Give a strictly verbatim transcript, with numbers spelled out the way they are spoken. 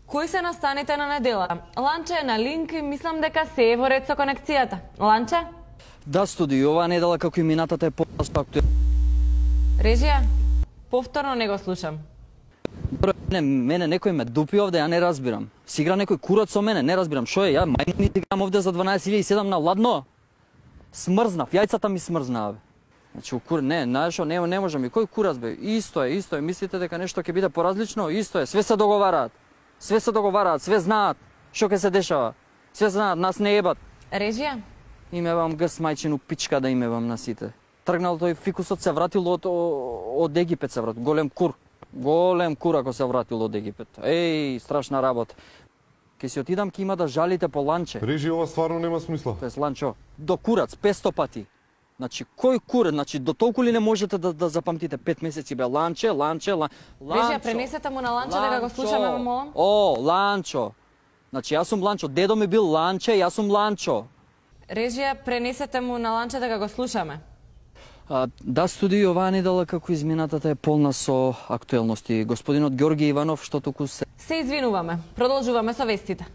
Кои се настаните на недела? Ланче е на линк и мислам дека се е во ред со конекцијата. Ланче? Да, студи, оваа недела како и минатата е по-актуелна. Режија? Повторно не го слушам. Не, мене некој ме дупи овде, ја не разбирам. Си игра некој курац со мене, не разбирам. Шо е, ја мајмуни играм овде за дванаесет илјади и седам на ладно. Смрзнав, јајцата ми смрзнаа, бе. Значи, кур... не, знаеш шо, не, не можам и кој курац, бе. Исто е, исто е. Мислите дека нешто ќе биде поразлично? Исто е, све се договараат. Све се договараат, све знаат што ќе се дешава. Све знаат, нас не ебат. Режија? Имевам гс мајчину пичка да имевам на сите. Тргнал тој фикусот, се вратил од, од Египет се вратил. Голем кур. Голем кур ако се вратил од Египет. Еј, страшна работа. Ке си отидам, ке има да жалите по ланче. Режи, ова стварно нема смисла. Пес ланчо. До курац, петсто пати. Значи, кој кур, значи, до толку ли не можете да, да запамтите пет месеци, бе, ланче, ланче, ланче. Режија, пренесете му на ланче дека го слушаме, ме молам. О, ланчо. Значи, јас сум ланчо. Дедо ми бил ланче, јас сум ланчо. Режија, пренесете му на ланче дека го слушаме. А, да, студи, оваа недела како изминатата е полна со актуелности. Господинот Ѓорги Иванов, што туку се... Се извинуваме. Продолжуваме со вестите.